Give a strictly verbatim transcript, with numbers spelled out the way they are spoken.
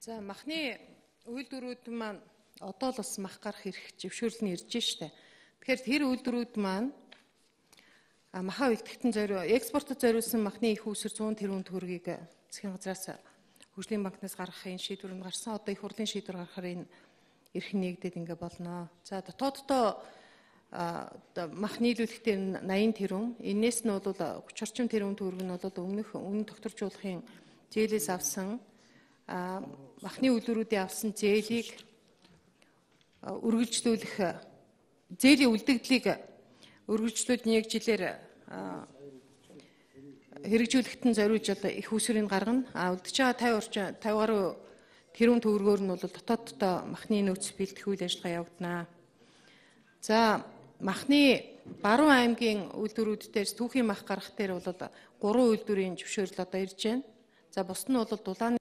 За махны үйлдвэрүүд маань одоо л бас мах гарах хэрэг зөвшөөрөл нь ирж штэ. Тэгэхээр тэр үйлдвэрүүд маань махаа үлдэхтэн зориу экспортод зориулсан махны их үүсвэр зуун тэрбум төгрөгийг засгийн газраас хөгжлийн банкнаас гаргахын шийдвэр нь гарсан. Одоо их хурлын шийдвэр гаргахаар энэ эрхэн нэгдээд ингээ болно. За дотооддоо мах нийлүүлэхдээ наян тэрбум. Энээс нь бол хүч орчим тэрбум төгрөг нь бол өмнөх өмнө тогтворжуулахын зээлээс авсан махны үйлдвэрүүдийн авсан зээлийг үргэлжлүүлэх зээлийн үлдэгдлийг үргэлжлүүлж нэг жилээр хэрэгжүүлэхтэн зориулж одоо их үүсвэрийг гаргана. А үлдэж байгаа тавин орчим тавин гаруй тэрбум төгрөгөөр нь бол дотооддоо махны нөөц бэлтгэх үйл ажиллагаа явагдана. За махны Баруун аймгийн үйлдвэрүүд дээрс түүхийн мах гарах дээр бол гурван үйлдвэрийн зөвшөөрөл одоо ирж байна. За бусд нь бол дулааны